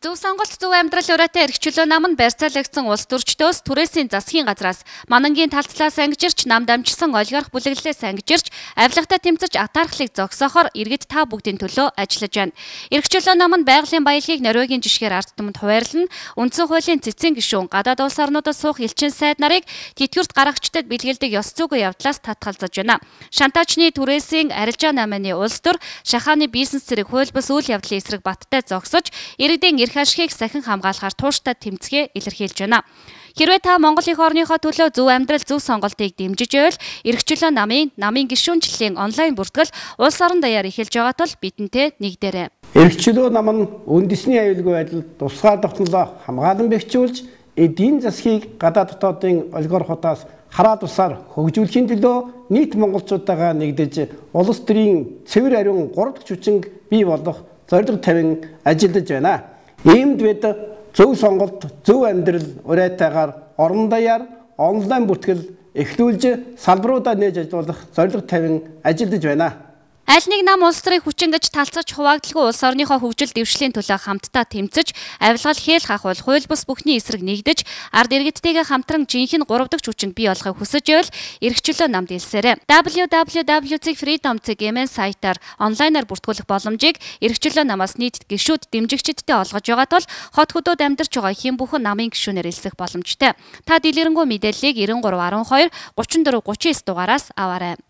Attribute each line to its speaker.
Speaker 1: Зөв сонголт зөв амьдрал ураатай эрхчлөө нам нь барьцаалагдсан улс төрчдөөс түрээсийн засгийн газраас манангийн талцлаас ангижирч нам дамжсан олигарх бүлэглэлээс ангижирч авилгатай тэмцэж атаархлыг зогсоохоор иргэд та бүгдийн төлөө ажиллаж байна. Эрхчлөө нам нь байгалийн баялагийг Норвегийн жишгээр ард түмэнд хуваарлан үндсэн хуулийн цэцэн гишүүн гадаад улс орнуудад суух элчин сайд нарыг тэтгэврт гаргагчдад бэлгэлдэг ёс зүйн явдлаас татгалзаж байна. Шантаачны түрээсийн арилжаа намын улс төр шахааны бизнес зэрэг хуульбас үйл явдлын эсрэг баттай зогсож иргэдийн эрх ашигыг сахин хамгаалахаар тууштай тэмцгээ илэрхийлж байна. Хэрвээ та Монгол их орныхоо төлөө зөв амьдрал зөв сонголтыг дэмжиж байвал эрхчлөө намын гишүүнчлэлийн онлайн бүртгэл улс орон даяар эхэлж байгаа тул бидэнтэй нэгдээрэй.
Speaker 2: Эрхчлөө нам нь үндэсний аюулгүй байдалд тусгай тогтнолоо хамгаалан бэхжүүлж эдийн засгийг гадаад дотоодын олигархуудаас хараа тусаар хөгжүүлэхийн төлөө нийт монголчуудаагаа нэгдэж улс төрийн цэвэр ариун 3 дахь хүчинг бий болгох зорилго тавин ажиллаж байна. Иймд бид зөв сонголт, зөв амьдрал уриатайгаар орон даяар онлайн бүртгэл эхлүүлж салбаруудаа нээж ажиллах зорилго тавин ажиллаж байна.
Speaker 1: Аль нэг нам улс төрийн хүчин гэж талцаж хуваагдлагүй улс орныхоо хөгжил дэвшлийн төлөө хамтдаа тэмцэж, авилгал хээл хахвал хууль бус бүхний эсрэг нэгдэж, ард иргэдтэйгээ хамтран жинхэнэ 3 дахь хүчинг бий болгохыг хүсэж байвал эрхчлөө намд илсээрэй. www.freedom.mn сайтаар онлайнаар бүртгүүлэх боломжийг эрхчлөө намаас нийт гишүүд дэмжигчдтэй олгож байгаа тул хот хөдөөд амьдарч байгаа хэн бүхэн намын гишүүнээр илсэх боломжтой. Та дэлгэрэнгүй мэдээллийг 9312 34 39 дугаараас аваарай.